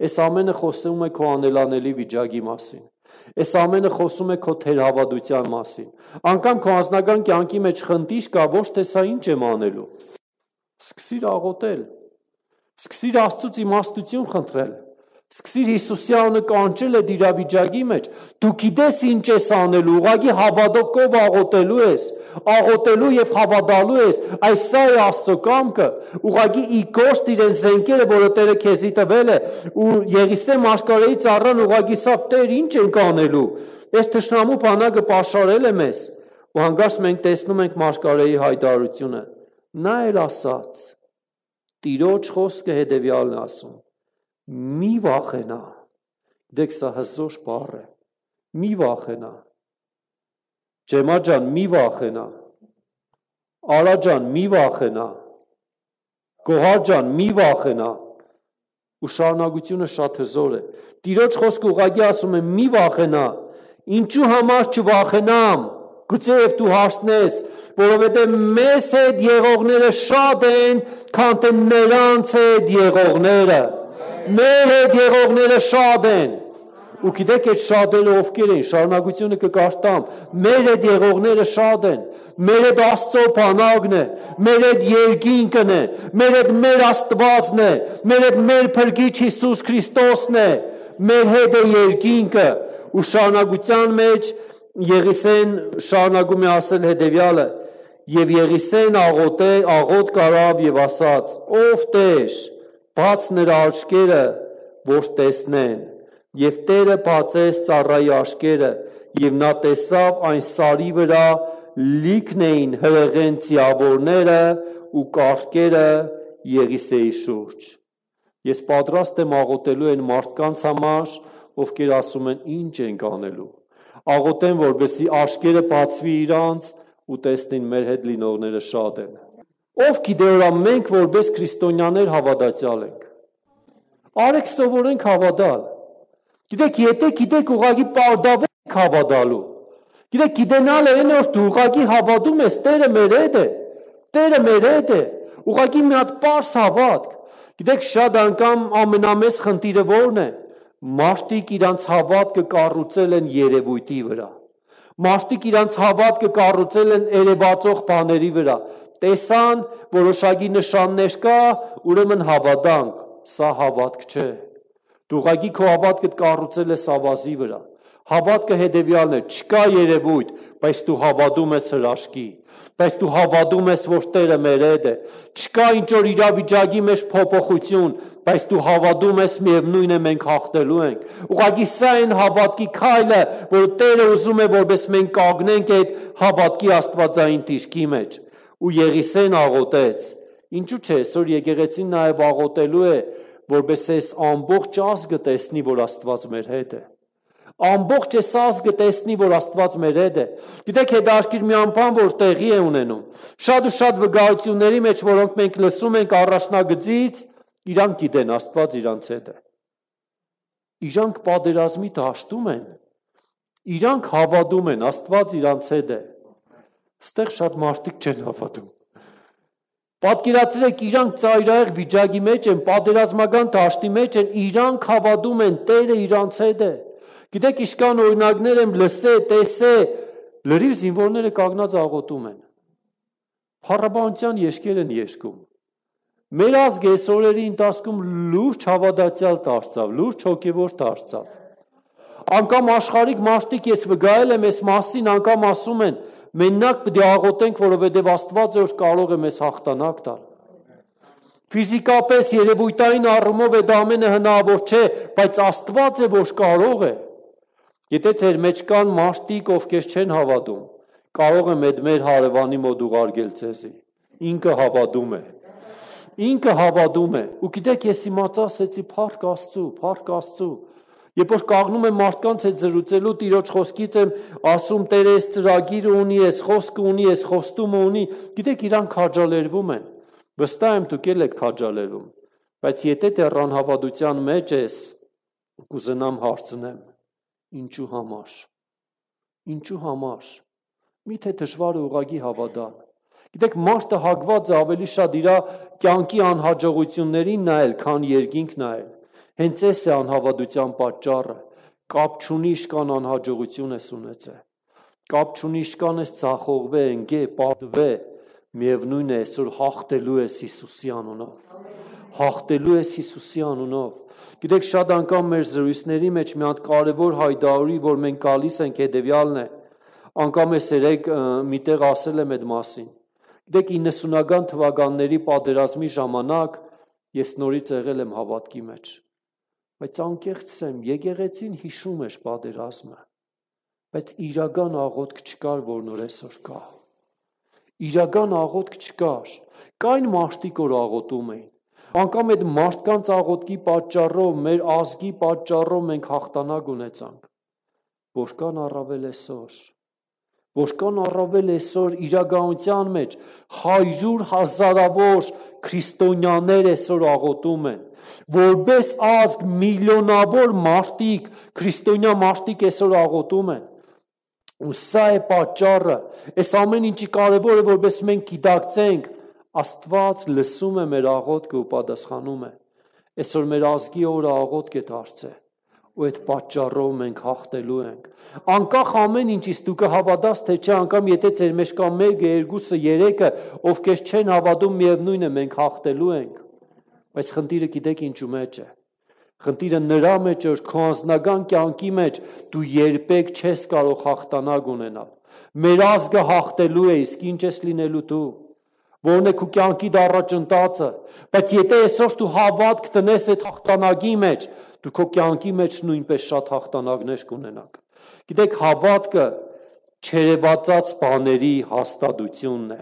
[SPEAKER 1] Այս ամենը խոսում է քո անելանելի վիճակի մասին։ Այս ամենը խոսում է քո թերհավատության մասին։ Անկամ քո անձնական կյանքի մեջ խնդիր կա, ոչ թե սա ինչ եմ անելու։ Սկսիր աղոթել։ Սկսիր Աստծուց իմաստություն խնդրել։ Սկսիր Հիսուսի անունը կանչել այդ իրավիճակի մեջ։ Դու գիտես ինչ ես անելու, ուղղակի հավատով աղոթելու ես, աղոթելու եւ հավատալու ես, այս սա է Աստծո կամքը, ուղղակի իգոշտ իրեն զենքերը, որը Տերը քեզի տվել է, ու Եղիսե մաշկարեի ծառան ուղղակի սա Տեր ինչ ենք անելու։ Այս թշնամու բանակը պաշարել է մեզ, ու հանկարծ մենք տեսնում ենք մաշկարեի հայտարարությունը։ Նա էլ ասաց. Տիրոջ խոսքը հետևյալն է ասում. մի վախենա։ Դեք սա հզոր բառ է։ Մի վախենա։ Ջեմա ջան, մի վախենա։ Արա ջան, մի վախենա։ Գոհար ջան, մի վախենա։ Ու շարունակությունը շատ հզոր է։ Տիրոջ խոսքը ուղղակի ասում է մի վախենա։ Ինչու համար չվախենամ։ Գուցե եւ դու հարցնես, որովհետեւ մեզ հետ եղողները շատ են, քան թե նրանց հետ եղողները։ Մեր հետ եղողները շատ են։ Ու գիտեք այդ շատերը ովքեր են, շարունակությունը կկարտամ, մեր հետ եղողները շատ են, մեր հետ Աստծո բանակն է, մեր հետ երկինքն է, մեր հետ մեր Աստվածն է, մեր հետ մեր Փրկիչ Հիսուս Քրիստոսն է, մեր հետ է երկինքը։ Ու շարունակության մեջ Եղիսեն շարունակում է ասել հետևյալը. եւ Եղիսեն աղոտ կարավ եւ ասաց. ով Տեր, բաց նրա աչքերը, որ տեսնեն, եւ Տերը բացեց ծառայի աչքերը, եւ նա տեսավ այն սարի վրա լիքն էին հրեղեն ծիավորները ու կառքերը Եղիսեի շուրջ։ Ես պատրաստ եմ աղոթելու այն մարդկանց համար, ովքեր ասում են ինչ ենք անելու։ Աղոթեն, որպեսզի աչքերը բացվի իրանց ու տեսնին մեր հետ լինողները շատ են։ Ով գիտե որ մենք որպես քրիստոնյաներ հավատացյալ ենք։ Արեք սովորենք հավատալ։ Գիտեք, եթե գիտեք ուղղակի պարտավոր եք հավատալու։ Գիտեք, գիտենալը այն որ դու ուղղակի հավատում ես, Տերը մեր հետ է։ Տերը մեր հետ է։ Ուղղակի մի հատ պարզ հավատք։ Գիտեք, շատ անգամ ամենամեծ խնդիրը ո՞րն է։ Մարդիկ իրանց հավատքը կառուցել են երևույթի վրա։ Մարդիկ իրանց հավատքը կառուցել են երևացող բաների վրա։ Տեսան, որոշակի նշաններ կա, ուրեմն հավատանք, սա հավատք չէ։ Դու ուղղակի քո հավատքը կառուցել ես ավազի վրա։ Հավատքը հետևյալն է, չկա երևույթ, բայց դու հավատում ես հրաշքի, բայց դու հավատում ես, որ Տերը մեր հետ է։ Չկա ինչ որ իրավիճակի մեջ փոփոխություն, բայց դու հավատում ես, միևնույն է մենք հաղթելու ենք։ Ուղղակի սա այն հավատքի քայլը, որ Տերը ուզում է, որպես մենք կանգնենք այդ հավատքի աստվածային դիրքի մեջ։ Ու Եղիսեն աղոթեց։ Ինչու՞ չէ, այսօր եկեղեցին նաև աղոթելու է, որպես այս ամբողջ ազգը տեսնի, որ Աստված մեր հետ է։ Ամբողջ այս ազգը տեսնի, որ Աստված մեր հետ է։ Գիտեք, հետաքրքիր մի բան, որ տեղի է ունենում։ Շատ ու շատ վկայությունների մեջ, որոնք մենք լսում ենք առաջնագծից, իրանք գիտեն, Աստված իրանց հետ է։ Իրանք պատերազմի դաշտում են։ Իրանք հավատում են, Աստված իրանց հետ է։ Այստեղ շատ մարդիկ չեն հավատում։ Պատկերացրեք, իրանք ծայրահեղ վիճակի մեջ են, պատերազմական դաշտի մեջ են, իրանք հավատում են, Տերը իրանց հետ է։ Գիտեք, իշքան օրինակներ եմ լսել, տեսել, լրիվ զինվորները կանգնած աղոթում են։ Փառաբանության եշկեր են երգում։ Մեր ազգը այս օրերի ընթացքում լուրջ հավատացյալ դարձավ, լուրջ հոգևոր դարձավ։ Անկամ աշխարհիկ մարդիկ ես վկայել եմ այս մասին, անկամ ասում են, մենակ պետք է աղոթենք, որովհետև Աստված է, որ կարող է մեզ հաղթանակ տալ։ Ֆիզիկապես երևույթային առումով դա ամենը հնարավոր չէ, բայց Աստված է, որ կարող է։ Եթե ձեր մեջ կան մարդիկ, ովքեր չեն հավատում, կարող եմ այդ մեր հարևանի մոտ ուղարկել ձեզի։ Ինքը հավատում է։ Ինքը հավատում է։ Ու գիտեք, ես իմացա, ասեցի, փառք Աստծու։ Երբ որ կանգնում եմ մարդկանց հետ զրուցելու, Տիրոջ խոսքից եմ ասում, Տերը այս ծրագիրը ունի, այս խոսքը ունի, այս խոստումը ունի, գիտեք, իրանք քաջալերվում են։ Վստահ եմ, դուք էլ եք քաջալերվում։ Բայց եթե դեռ անհավատության մեջ ես, կուզենամ հարցնեմ, ինչու համար։ Ինչու համար։ Միթե դժվար է ուղղակի հավատալ։ Գիտեք, մարդը հագված է ավելի շատ իր կյանքի անհաջողություններին նայել, քան երկինք նայել։ Հենց այս է անհավատության պատճառը։ Կապ չունի իշքան անհաջողություն ես ունեցել։ Կապ չունի իշքան ես ցախողվե, ընկե, պատվե, միևնույն է, այսօր հաղթելու ես Հիսուսի անունով։ Հաղթելու ես Հիսուսի անունով։ Գիտեք, շատ անգամ մեր զրույցների մեջ մի հատ կարևոր հայտարարի, որ մենք գալիս ենք, հետևյալն է։ Անգամ ես երեք միտեղ ասել եմ այդ մասին։ Գիտեք, 90-ական թվականների պատերազմի ժամանակ ես նորից եղել եմ հավատքի մեջ։ Բայց անկեղծ եմ, եկեղեցին հիշում էր պատերազմը, բայց իրական աղոթք չկար, որ նոր այսօր կա։ Իրական աղոթք չկար։ Կային մարդիկ, որ աղոթում էին։ Անկամ այդ մարդկանց աղոթքի պատճառով, մեր ազգի պատճառով մենք հաղթանակ ունեցանք։ Որքան առավել այսօր։ Որքան առավել այսօր իրականության մեջ 100,000-ավոր քրիստոնյաներ այսօր աղոթում են, որպես ազգ միլիոնավոր մարդիկ, քրիստոնյա մարդիկ այսօր աղոթում են։ Ու սա է պատճառը, այս ամեն ինչի կարևոր է, որպես մենք գիտակցենք, Աստված լսում է մեր աղոթքը ու պատասխանում է։ Այսօր մեր ազգի օրը աղոթք է դարձել, ու այդ պատճառով մենք հաղթելու ենք։ Անկախ ամեն ինչից դու կհավատաս, թե չէ, անգամ եթե ձեր մեջ կա 1, 2, 3-ը, ովքեր չեն հավատում, միևնույն է, մենք հաղթելու ենք։ Բայց խնդիրը գիտեք ինչու մեջ է։ Խնդիրը նրա մեջ է, որ քո անձնական կյանքի մեջ դու երբեք չես կարող հաղթանակ ունենալ։ Մեր ազգը հաղթելու է, իսկ ինչ ես լինելու դու։ Որն է քո կյանքի առաջընթացը։ Բայց եթե այսօր դու հավատք տնես այդ հաղթանակի մեջ, դու քո կյանքի մեջ նույնպես շատ հաղթանակներ կունենաք։ Գիտեք, հավատքը չերևացած բաների հաստատությունն է։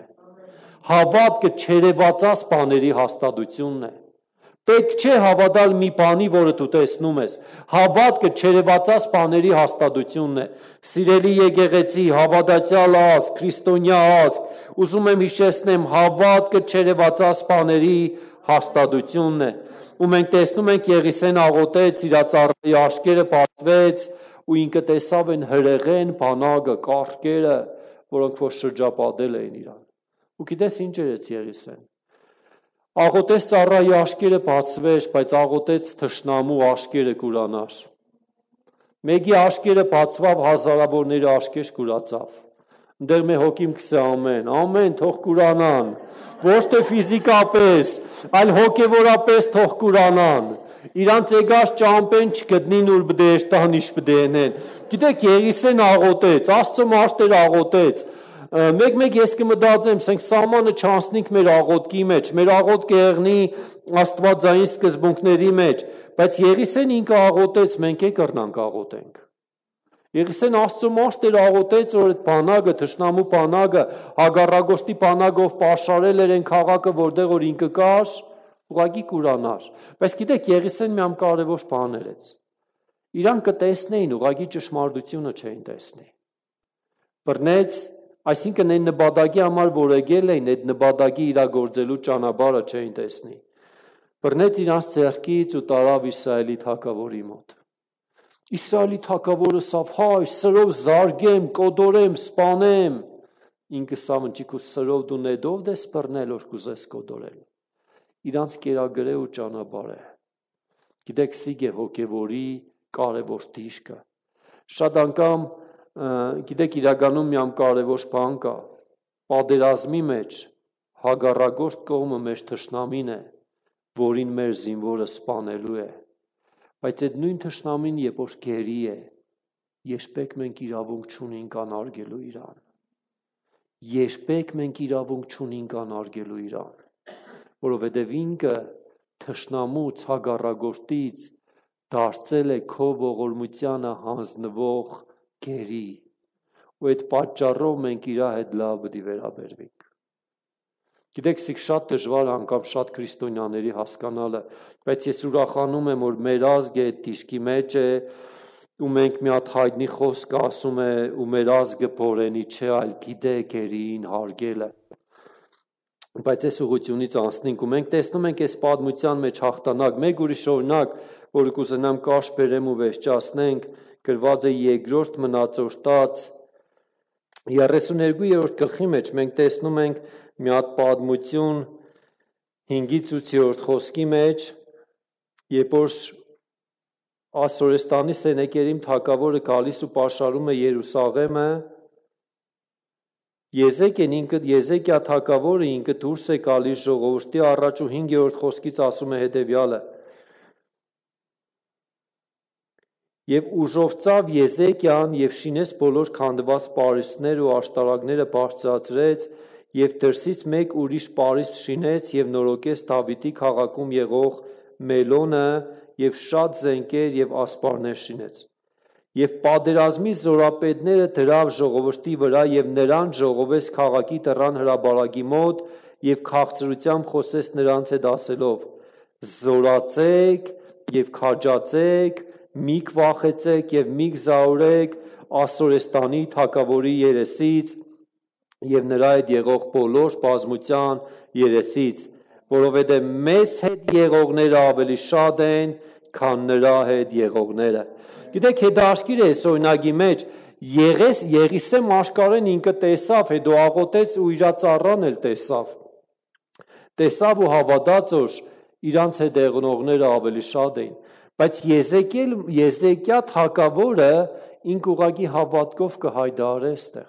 [SPEAKER 1] Հավատքը չերևացած բաների հաստատությունն է։ Պետք չէ հավատալ մի բանի, որը դու տեսնում ես։ Հավատքը չերևացած բաների հաստատությունն է։ Սիրելի եկեղեցի, հավատացյալ ազգ, քրիստոնյա ազգ, ուզում եմ հիշեցնեմ, հավատքը չերևացած բաների հաստատությունն է։ Ու մենք տեսնում ենք Եղիսեն աղոթեց, իր ծառայի աշկերը բացվեց, ու ինքը տեսավ են հրեղեն բանակը, կառքերը, որոնք որ շրջապատել էին իրան։ Ու գիտես ինչ երեց Եղիսեն։ Աղոթեց ծառայի աշկերը բացվեր, բայց աղոթեց թշնամու աշկերը կուրանար։ Մեկի աշկերը բացվավ, հազարավորների աշկեր կուրացավ։ Ընդեղ մեր հոգիմ կսե ամեն, թող կուրանան, ոչ թե ֆիզիկապես, այլ հոգևորապես թող կուրանան։ Իրանց եկած ճամպեն չգտնին ուր բդեշտան իշ բդենեն։ Գիտեք, Եղիսեն աղոթեց, Աստծո մարդեր աղոթեց։ Մեկ ես կմտածեմ, ասենք սահմանը չանցնենք մեր աղոթքի մեջ, մեր աղոթքը եղնի աստվածային սկզբունքների մեջ, բայց Եղիսեն ինքը աղոթեց, մենք կրնանք աղոթենք։ Եղիսեն Աստծո մարդեր աղոթեց, որ այդ բանակը, թշնամու բանակը, հագառագոշտի բանակով պաշարել էր այն քաղաքը, որտեղ որ ինքը կար, ուղղակի կուրանար։ Բայց գիտեք, Եղիսեն մի կարևոր բան էր։ Իրան կտեսնեին, ուղղակի ճշմարտությունը չէին տեսնի։ Բռնեց, այսինքն այն նպատակի համար, որ եկել էին, այդ նպատակի իրագործելու ճանապարհը չէին տեսնի։ Բռնեց իրանց ձեռքից ու տարավ Իսրայելի թագավորի մոտ։ Իսրայելի թագավորը ասավ, հայ, սրով զարգեմ, կոդորեմ, սպանեմ։ Ինքը ասավ, ընչի սրով դու նետով դես բռնել, որ կուզես կոդորել։ Իրանց կերակրե ու ճանապարհ է։ Գիտեք, սիգ է հոգևորի կարևոր դիրքը։ Շատ անգամ գիտեք, իրականում մի կարևոր բան կա։ Պատերազմի մեջ հագառագործ կողմը մեր թշնամին է, որին մեր զինվորը սպանելու է։ Բայց այդ նույն թշնամին երբ որ գերի է, Երբեք մենք իրավունք չունենք անարգելու իրան։ Երբեք մենք իրավունք չունենք անարգելու իրան, որովհետև ինքը թշնամուց հագառագործից դարձել է քո ողորմությանը հանձնվող գերի, ու այդ պատճառով մենք իր հետ լավ պետք է վերաբերվենք։ Գիտեք, սիկ շատ դժվար անգամ շատ քրիստոնյաների հասկանալը, բայց ես ուրախանում եմ, որ մեր ազգը այդ դիրքի մեջ է, ու մենք մի հատ հայտնի խոսք ասում է, ու մեր ազգը բորենի չէ, այլ գիտե գերին հարգելը։ Բայց այս ուղղությունից անցնենք, ու մենք տեսնում ենք այս պատմության մեջ հաղթանակ, մեկ ուրիշ օրինակ, որը կուզենամ կարճ բերեմ ու վերջացնենք, գրված է երկրորդ մնացորդած 32-րդ գլխի մեջ մենք տեսնում ենք մի հատ պատմություն 5-ից 8-րդ խոսքի մեջ, երբ որ Ասորեստանի Սենեկերիմ թագավորը գալիս ու պաշարում է Երուսաղեմը, Եզեկիա թագավորը ինքը դուրս է գալիս ժողովրդի առաջ ու 5-րդ խոսքից ասում է հետևյալը. Եվ ուժով ծավ Եզեկիան և շինեց բոլոր քանդված պարիսպները ու աշտարակները բարձրացրեց և դրսից մեկ ուրիշ պարիսպ շինեց և նորոգեց Դավիթի քաղաքում եղող Մելոնը և շատ զենքեր և ասպարներ շինեց։ Եվ պատերազմի զորապետները դրավ ժողովրդի վրա և նրան ժողովեց քաղաքի դռան հրապարակի մոտ և քաղցրությամբ խոսեց նրանց հետ ասելով. զորացեք և քաջացեք, մի վախեցեք և մի զաուրեք Ասորեստանի թագավորի երեսից և նրա հետ եղող բոլոր բազմության երեսից, որովհետև մեզ հետ եղողները ավելի շատ են, քան նրա հետ եղողները։ Գիտեք, հետաքրքիր է այս օրինակի մեջ Եղիսե մաշկարեն ինքը տեսավ, հետո աղոթեց ու իր ծառան էլ տեսավ ու հավատաց, որ իրանց հետ եղողները ավելի շատ էին, բայց Եզեկիա թագավորը ինքը ուղղակի հավատքով կհայտարարե այստեղ։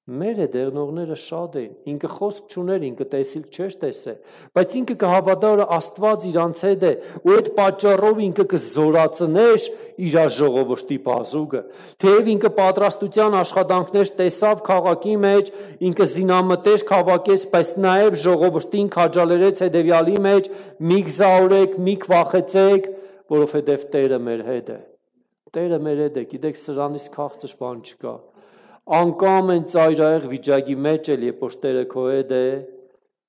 [SPEAKER 1] Մեր հետ եղողները շատ էին, ինքը խոսք չուներ, ինքը տեսիլ չէր տեսել, բայց ինքը կհավատա, որ Աստված իրանց հետ է, ու այդ պատճառով ինքը կզորացներ իր ժողովրդի բազուկը։ Թեև ինքը պատրաստության աշխատանքներ տեսավ քաղաքի մեջ, ինքը զինամտեր քաղաքեց, բայց նաև ժողովրդին քաջալերեց հետևյալի մեջ. մի զաուրեք, մի վախեցեք, որովհետև Տերը մեր հետ է։ Տերը մեր հետ է, գիտեք, սրանից քաղցր բան չկա։ Անկամ են ծայրահեղ վիճակի մեջ էլ, երբ որ Տերը քո հետ է,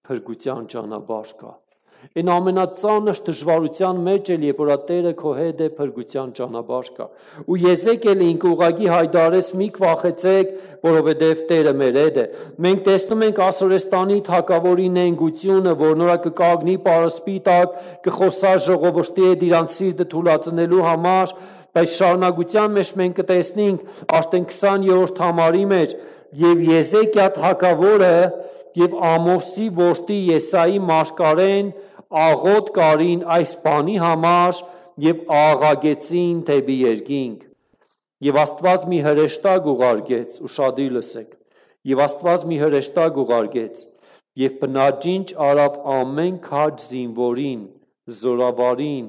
[SPEAKER 1] փրկության ճանապարհ կա։ Այն ամենածանր դժվարության մեջ էլ, երբ որ Տերը քո հետ է, փրկության ճանապարհ կա։ Ու Եզեկիելը ինքը ուղղակի հայտարարեց՝ մի վախեցեք, որովհետև Տերը մեր հետ է։ Մենք տեսնում ենք Ասորեստանի թագավորի նենգությունը, որ նորա կկանգնի պարսպի տակ, կխոսա ժողովրդի հետ իրանց սիրտը թուլացնելու համար, բայց շարունակության մեջ մենք կտեսնենք արդեն 20-րդ համարի մեջ, եւ Եզեկիա թագավորը եւ Ամոսի որդի Եսայի մաշկարեն աղոտ կարին այս բանի համար եւ աղաղեցին դեպի երկինք։ Եվ Աստված մի հրեշտակ ուղարկեց, ուշադիր լսեք, եւ Աստված մի հրեշտակ ուղարկեց եւ բնաջինջ արավ ամեն քաջ զինվորին, զորավարին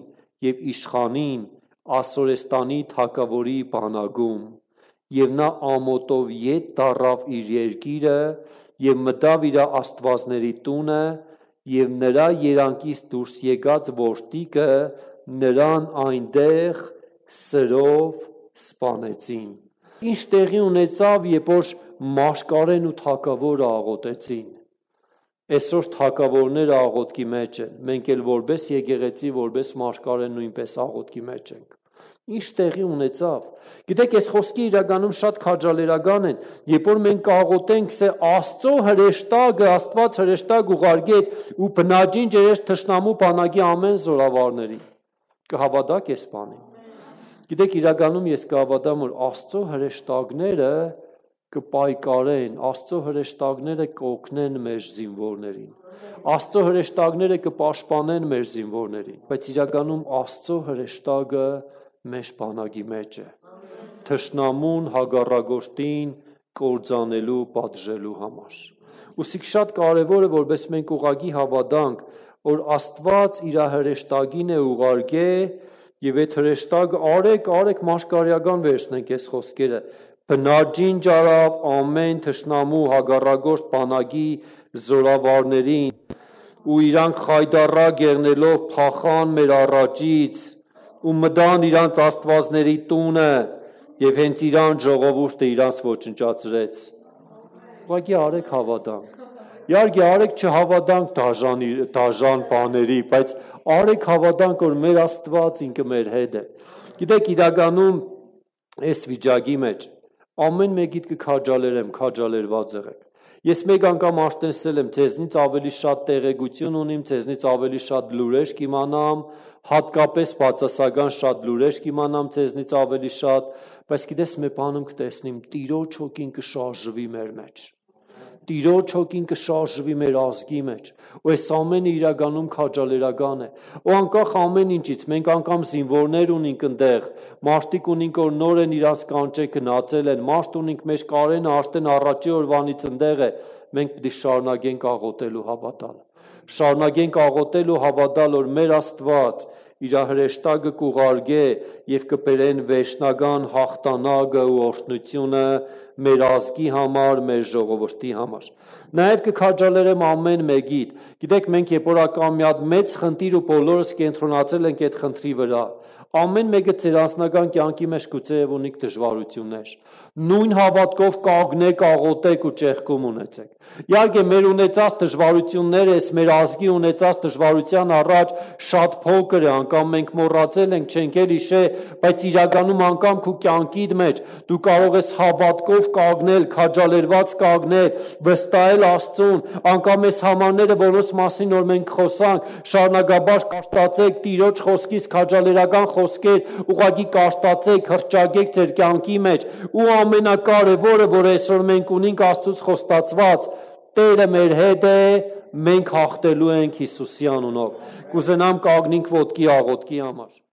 [SPEAKER 1] եւ իշխանին Ասորեստանի թագավորի բանակում, եւ նա ամոտով ետ դառավ իր երկիրը եւ մտավ իր աստվածների տունը, եւ նրա երանքից դուրս եկած որդիկը նրան այնտեղ սրով սպանեցին։ Ինչ տեղի ունեցավ, երբ որ մաշկարեն ու թագավորը աղոթեցին։ Այսօր թագավորները աղոթքի մեջ են, մենք էլ որպես եկեղեցի, որպես մաշկարեն նույնպես աղոթքի մեջ ենք։ Ինչ տեղի ունեցավ։ Գիտեք, այս խոսքի իրականում շատ քաջալերական են, երբ որ մենք աղոթենք, սե Աստծո հրեշտակը, Աստված հրեշտակ ուղարկեց ու բնաջին ջերեց թշնամու բանակի ամեն զորավարներին։ Կհավատաք այս բանին։ Գիտեք, իրականում ես կհավատամ, որ Աստծո հրեշտակները կպայկարեն, Աստծո հրեշտակները կօգնեն մեր զինվորներին, Աստծո հրեշտակները կպաշտպանեն մեր զինվորներին, բայց իրականում Աստծո հրեշտակը մեր բանակի մեջ է, թշնամուն հագառագործին կործանելու, պատժելու համար։ Ուսիկ շատ կարևոր է, որպես մենք ուղղակի հավատանք, որ Աստված իր հրեշտակին է ուղարկե Եվ այդ հրեշտակը արեք մաշկարիական վերցնենք այս խոսքերը, բնաջին ջարավ ամեն թշնամու հագառագործ բանակի զորավարներին, ու իրանք խայդառակ եղնելով փախան մեր առաջից, ու մտան իրանց աստվածների տունը, եւ հենց իրան ժողովուրդը իրանց ոչնչացրեց։ Ուղղակի արեք հավատանք։ Իհարկե արեք չհավատանք դաժան բաների, բայց արեք հավատանք, որ մեր Աստված ինքը մեր հետ է։ Գիտեք, իրականում այս վիճակի մեջ ամեն մեկիդ կքաջալերեմ, քաջալերված եղեք։ Ես մեկ անգամ աշտենսել եմ, ձեզնից ավելի շատ տեղեկություն ունիմ, ձեզնից ավելի շատ լուրեր կիմանամ, հատկապես բացասական շատ լուրեր կիմանամ ձեզնից ավելի շատ, բայց գիտես մի բանում կտեսնիմ, Տիրոջ հոգին կշարժվի մեր մեջ։ Տիրոջ հոգին կշարժվի մեր ազգի մեջ, ու այս ամենը իրականում քաջալերական է։ Ու անկախ ամեն ինչից, մենք անգամ զինվորներ ունենք այնտեղ, մարդիկ ունենք, որ նոր են իրաց կանչե գնացել են, մարդ ունենք, մեր Կարենը արդեն առաջի օրվանից այնտեղ է, մենք պետք է շարունակենք աղոթել ու հավատալ։ Շարունակենք աղոթել ու հավատալ, որ մեր Աստված իր հրեշտակը կուղարկե եւ կբերեն վերջնական հաղթանակը ու օրհնությունը մեր ազգի համար, մեր ժողովրդի համար։ Նաև կքաջալերեմ ամեն մեկիդ։ Գիտեք, մենք երբ որ ակամ մի հատ մեծ խնդիր ու բոլորս կենտրոնացել ենք այդ խնդրի վրա, ամեն մեկը ձեր անձնական կյանքի մեջ գուցեև ունիք դժվարություններ։ Նույն հավատքով կանգնեք, աղոթեք ու ճեղքում ունեցեք։ Իհարկե մեր ունեցած դժվարությունները, մեր ազգի ունեցած դժվարության առաջ շատ փոքր է, անգամ մենք մոռացել ենք, չենք էլ հիշե, բայց իրականում անգամ քո կյանքիդ մեջ դու կարող ես հավատքով կանգնել, քաջալերված կանգնել, վստահել Աստծուն, անգամ այս համարները, որոնց մասին որ մենք խոսանք, շարունակաբար կաշտացեք Տիրոջ խոսքից քաջալերական խոսքեր, ուղղակի կաշտացեք, հռչակեք ձեր կյանքի մեջ, ու ամենակարևորը, որ այսօր մենք ունենք Աստծուց խոստացված, Տերը մեր հետ է, մենք հաղթելու ենք Հիսուսի անունով։ Կուզենամ կանգնենք ոտքի աղոթքի համար։